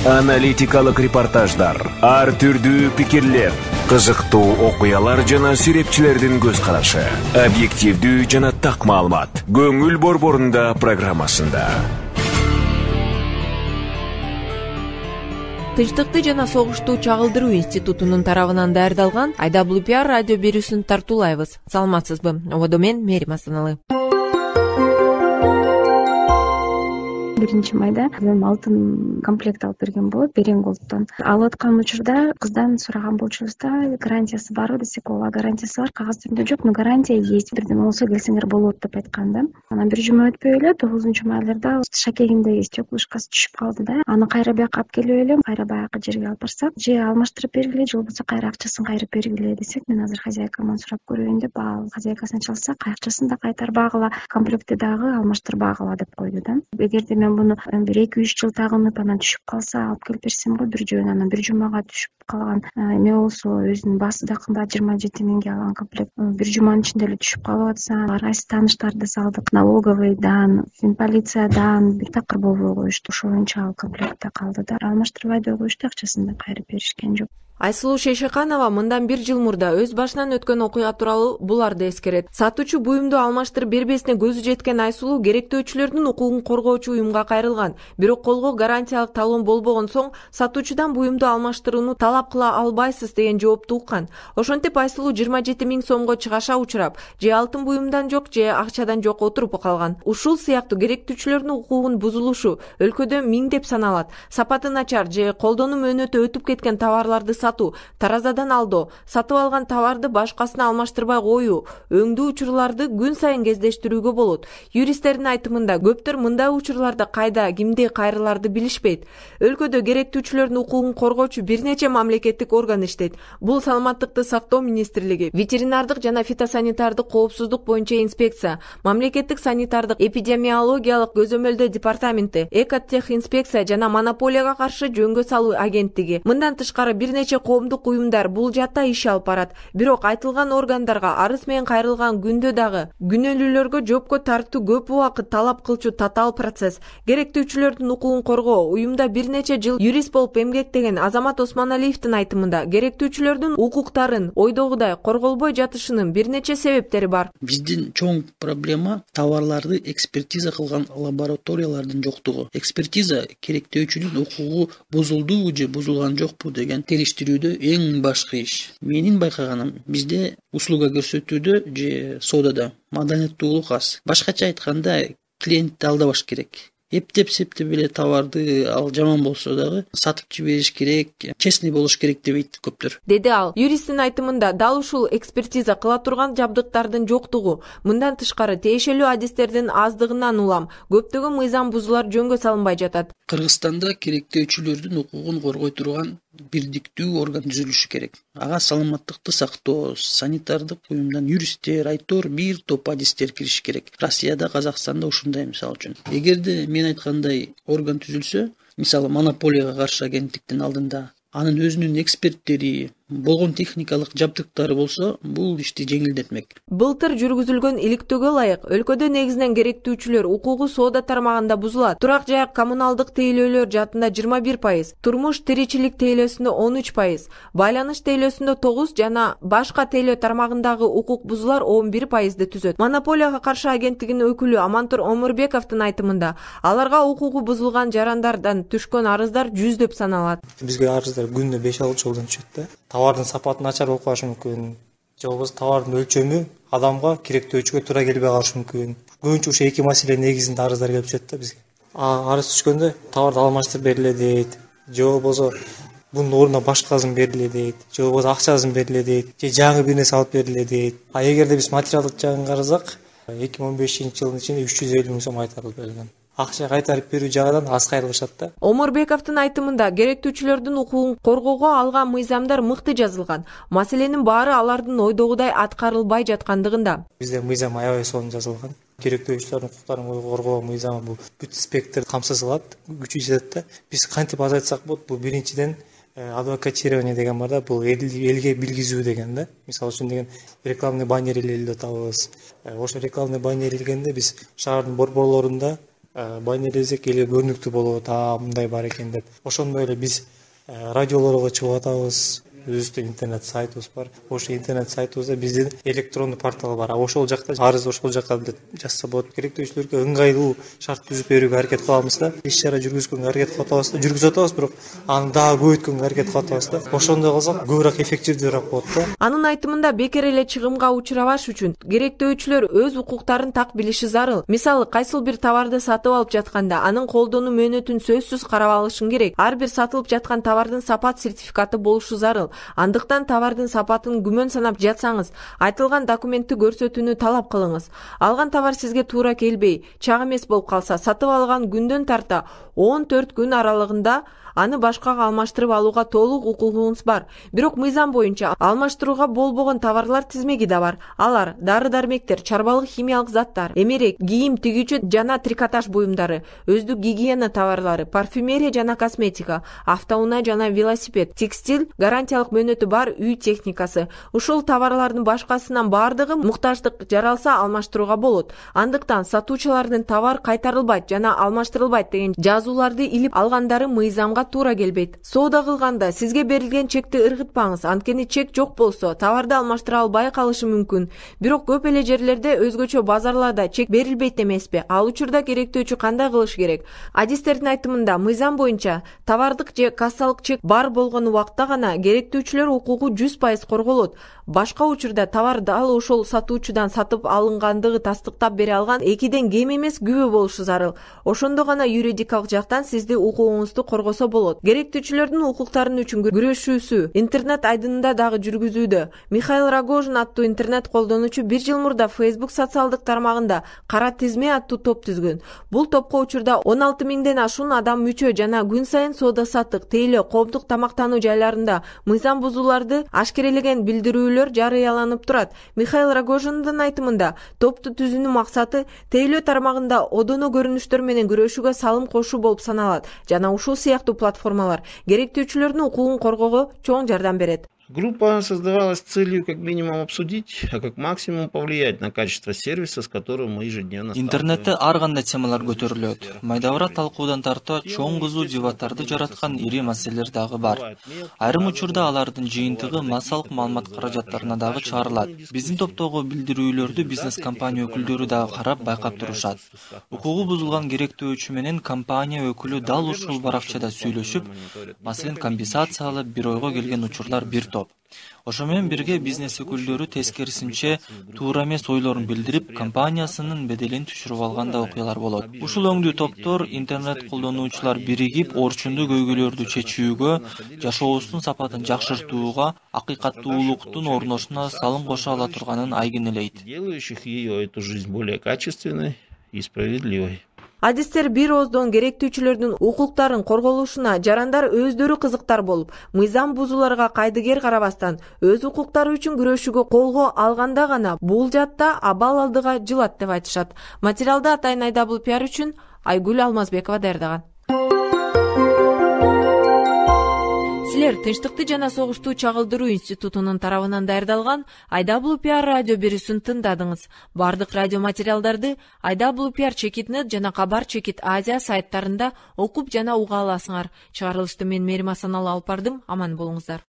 Аналитикалык репортаждар, ар түрдүү пикирлер, кызыктуу окуялар жана серепчилердин көз карашы. Объективдүү жана так маалымат. Көңүл борборунда программасында. Тынчтыкты жана согушту чагылдыруу институтунун тарабынан даярдалган IWPR радио берүүсүн тартуулайбыз. Саламатсызбы? Ободо мен Мерим Асаналы. 1-майда алтын комплект алып берген болот Беренголдтон. Алып аткан учурда кыздан сураган болчубуз да, гарантиясы барбы десек, ооба гарантиясы бар, кагаз түрүндө жок, но гарантия есть. Бирден болсо келсеңер болот деп айткан да. Анан 1 жума өтпөй эле 9-майларда шакегинде стеклышкасы түшүп калды да. Аны кайра бияка алып келип эле, кайра баягы жерге алып барсак, же алмаштырып бергиле, же болбосо кайра акчасын кайрып бергиле десек, мен азыр хозяйкаман сурап көрөйүн деп, хозяйкасына чалсак, акчасын да кайтарбагыла, комплекти дагы алмаштырбагыла деп койду да. Эгерде мен буну 1-2-3 жыл тагынып анан түшүп калса алып келип берсем го бир жөн, анан 1 жумага түшүп калган эме болсо, өзүнүн баасы да кымбат 27 миңге алган комплект 1 жуманын ичинде эле түшүп калып атса, кайсы тааныштарды салдык, налоговыйдан, полициядан бир такыр болбой коюшту. Ошол боюнча ал комплектте калды да. Алмаштырбай да коюшту, акчасын да кайрып беришкен жок. Айсулуу Шейшеканова мындан 1 жыл мурда өз башынан өткөн окуя тууралуу буларды эскерет. Сатуучу буюмду алмаштырып бербесине көзү жеткен Айсулуу керектөөчүлөрдүн укугун коргоочу уюмга кайрылган. Бирок колго гарантиялык талон болбогон соң сатуучудан буюмду алмаштырууну талап кыла албайсыз деген жоопту уккан. Ошентип Айсулуу 27 миң сомго чыгаша учурап, же алтын буюмдан жок, же акчадан жок отуруп калган. Ушул сыяктуу керектүүчүлөрдүн укугунун бузулушу өлкөдө миңдеп саналат. Сапаты начар же колдонуу мөөнөтү өтүп кеткен товарларды таразадан алдоо, сатып алган товарды башкасына алмаштырбай коюу, өңдүү учурларды күн сайын кездештирүүгө болот. Юристтердин айтымында көптөр мындай учурларда кайда, кимди кайрыларды билишпейт. Өлкөдө керектүүчүлөрдүн укугун коргоочу бир нече мамлекеттик орган иштейт. Бул Саламаттыкты сактоо министрлиги, ветеринардык жана фитосанитардык коопсуздук боюнча инспекция, мамлекеттик санитардык эпидемиологиялык көзөмөлдөө департаменти, Экотехинспекция жана монополияга каршы жөнгө салуу агенттиги. Мындан тышкары бир нече коомдук уюмдар бул жакта иш алып барат. Бирок айтылган органдарга арыз менен кайрылган күндө дагы күнөөлүүлөргө жоопко тартуу көп убакыт талап кылчу татаал процесс. Керектүүчүлөрдүн укугун коргоо уюмда бир нече жыл юрист болуп эмгектеген Азамат Осмоналиевдин айтымында керектүүчүлөрдүн укуктарын ойдогудай корголбой жатышынын бир нече себептери бар. Биздин чоң проблема товарларды экспертиза кылган лабораториялардын жоктугу. Экспертиза керектөөчүнүн укугу бузулдубу же бузулган жокпу деген териштирүүдө эң башкы иш. Менин байкаганым, бизде услуга көрсөтүүдө же соодада маданияттуулук аз. Башкача айтканда, клиентти алдабаш керек. Эптеп-септеп эле товарды ал жаман болсо дагы сатып жибериш керек, честный болуш керек дебейт көптөр. Деди ал. Юристтин айтымында дал ушул экспертиза кыла турган жабдыктардын жоктугу, мындан тышкары тиешелүү адистердин аздыгынан улам көптөгөн мыйзам бузуулар жөнгө салынбай жатат. Кыргызстанда керектөөчүлөрдүн укугун коргой турган бирдиктүү орган түзүлүшү керек. Ага саламаттыкты сактоо, санитардык уюмдан юристтер, айтор, бир топ адистер кириши керек. Россияда, Казакстанда ушундай мисалы үчүн. Эгерде мен айткандай орган түзүлсө, мисалы монополияга каршы агенттиктин алдында анын өзүнүн эксперттери, болгон техникалык жабдыктары болсо, бул ишти жеңилдетмек. Былтыр жүргүзүлгөн иликтөөгө ылайык өлкөдө негизинен керектүүчүлөр укугу соода тармагында бузулат. Турак жай коммуналдык тейлөөлөр жаатында 21%, турмуш тиричилик тейлөөсүндө 13%, байланыш тейлөөсүндө 9% жана башка тейлөө тармагындагы укук бузуулар 11%ды түзөт. Монополияга каршы агенттигинин өкүлү Амантур Омурбековдун айтымында, аларга укугу бузулган жарандардан түшкөн арыздар жүздөп саналат. Бизге арыздар күнүнө 5-6 жолдон түшөт да. Товардын сапаты начар болуп калышы мүмкүн. Же болбосо товардын өлчөмү адамга керектөөчүгө туура келбей калышы мүмкүн. Көбүнчө ушул эки маселе негизинде арыздар келип түшөт да бизге. Арыз түшкөндө товарды алмаштырып бериле дейт. Же болбосо бунун ордуна башкасын бериле дейт. Же болбосо акчасын бериле дейт. Же жаңы бир нерсе алып бериле дейт. Эгерде биз материалдык жагын карасак, 2015-жылдын ичинде 350 миң сом кайтарылып берилген. Акча кайтарып берүү жагынан аз кайрылышат да. Омурбековдун айтымында керектүүчүлөрдүн укугун коргоого алган мыйзамдар мыкты жазылган. Маселенин баары алардын ойдогудай аткарылбай жаткандыгында. Бизде мыйзам аябай сонун жазылган. Керектөөчүлөрдүн укуктарын коргоо мыйзамы бул бүт спектр камсыз кылат, күчү жетет да. Биз кантип азайтсак болот? Бул биринчиден адвокатирование деген бар да, бул элге билгизүү деген да. Мисалы үчүн деген рекламный баннер илип атабыз. Ошо рекламный баннер илгенде биз шаардын борборлорунда байнелесек эле көрүнүктүү болот, мындай бар экен деп. Ошондой эле биз радиолорго чыгып атабыз. Өзүбүздүн интернет сайтыбыз бар. Ошол интернет сайтыбызда биздин электрондуу портал бар. Ошол жакта арыз ошол жака жазса болот. Керектөөчүлөргө ыңгайлуу шарт түзүп берүүгө аракет кылабыз да. Иш чара жүргүзгөнгө аракет кылып атабыз да. Жүргүзүп атабыз, бирок аны дагы көбөйткөнгө аракет кылып атабыз да. Ошондой кылсак көбүрөөк эффективдүүрөөк болот да. Анын айтымында бекер эле чыгымга учурабаш үчүн керектөөчүлөр өз укуктарын так билиши зарыл. Мисалы, кайсыл бир товарды сатып алып жатканда анын колдонуу мөөнөтүн сөзсүз карап алышың керек. Ар бир сатылып жаткан товардын сапат сертификаты болушу зарыл. Андыктан товардын сапатын күмөн санап жатсаңыз, айтылган документти көрсөтүүнү талап кылыңыз. Алган товар сизге туура келбей, чак эмес болуп калса, сатып алган күндөн тарта 14 күн аралыгында аны башкага алмаштырып алууга толук укугуңуз бар. Бирок мыйзам боюнча алмаштырууга болбогон товарлар тизмеги да бар. Алар дары-дармектер, чарбалык химиялык заттар, эмерек, кийим тигүүчү жана трикотаж буюмдары, өздүк гигиена товарлары, парфюмерия жана косметика, автоунаа жана велосипед, текстиль, гарантиялык мөөнөтү бар үй техникасы. Ушул товарлардын башкасынан бардыгы муктаждык жаралса алмаштырууга болот. Андыктан сатуучулардын товар кайтарылбайт жана алмаштырылбайт деген жазууларды илип алгандары мыйзамга туура келбейт. Соода кылганда сизге берилген чекти ыргытпаңыз. Анткени чек жок болсо, товарды алмаштыра албай калышы мүмкүн. Бирок көп эле жерлерде өзгөчө базарларда чек берилбейт эмеспи? Ал учурда керектөөчү кандай кылыш керек? Адистердин айтымында мыйзам боюнча товардык же кассалык чек бар болгон убакта гана керектөөчүлөр укугу 100% корголот. Башка учурда товар дал ошол сатуучудан сатып алынгандыгы тастыктап бере алган 2ден кем эмес күбө болушу зарыл. Ошондо гана юридикалык жактан сизди укугуңузду коргосо болот. Керектөөчүлөрдүн укуктарын үчүн күрөшүүсү интернет айдынында дагы жүргүзүүдө. Михаил Рогожин аттуу интернет колдонуучу 1 жыл мурда Facebook социалдык тармагында Кара тизме аттуу топ түзгөн. Бул топко учурда 16 миңден ашуун адам мүчө жана күн сайын соода саттык, тейлөө, коомдук тамактануу жайларында мыйзам бузууларды ашкерелеген билдирүүлөр жарыяланып турат. Михаил Рогожиндин айтымында, топту түзүүнүн максаты тейлөө тармагында одоно көрүнүштөр менен күрөшүүгө салым кошуу болуп саналат жана ушул сыяктуу платформалар керектөөчүлөрдүн укугун коргоого чоң жардам берет. Группа создавалась с целью как минимум обсудить, а как максимум повлиять на качество сервиса, с которым мы ежедневно сталкиваемся. Интернетте ар кандай темалар көтөрүлөт. Майдабыраак талкуудан тарта чоң кызуу дебаттарды жараткан ири маселелер дагы бар. Айрым учурда алардын жыйынтыгы массалык маалымат каражаттарына дагы чыгарылат. Биздин топтогу билдирүүлөрдү бизнес компания өкүлдөрү дагы карап байкап турушат. Укугу бузулган керектөөчү менен компания өкүлү дал ушул баракчада сүйлөшүп, маселен компенсация алып бир ойго келген учурлар бир топ. Ошо менен бирге бизнес өкүлдөрү тескерисинче туура эмес ойлорун билдирип, компаниясынын беделин түшүрүп алган да окуялар болот. Ушул өңдүү топтор интернет колдонуучулар биригип орчундуу көйгөйлөрдү чечүүгө, жашообуздун сапатын жакшыртууга, акыйкаттуулуктун орношуна салым кошо ала турганын айгинелейт. Делающих ее эту жизнь более качественной и справедливой. Адистер бир ооздон керектүүчүлөрдүн укуктарын корголушуна жарандар өздөрү кызыктар болуп, мыйзам бузууларга кайдыгер карабастан өз укуктары үчүн күрөшүүгө колго алганда гана бул жатта абал алдыга жылат деп айтышат. Материалды атайын IWPR үчүн Айгүл Алмазбекова даярдаган. Силер Тынчтыкты жана согушту чагылдыруу институтунун тарабынан даярдалган IWPR радио берүүсүн тыңдадыңыз. Бардык радио материалдарды IWPR.net жана Кабар Азия сайттарында окуп жана уга аласыңар. Чыгарылышты мен Мерим Асаналы алып бардым. Аман болуңуздар.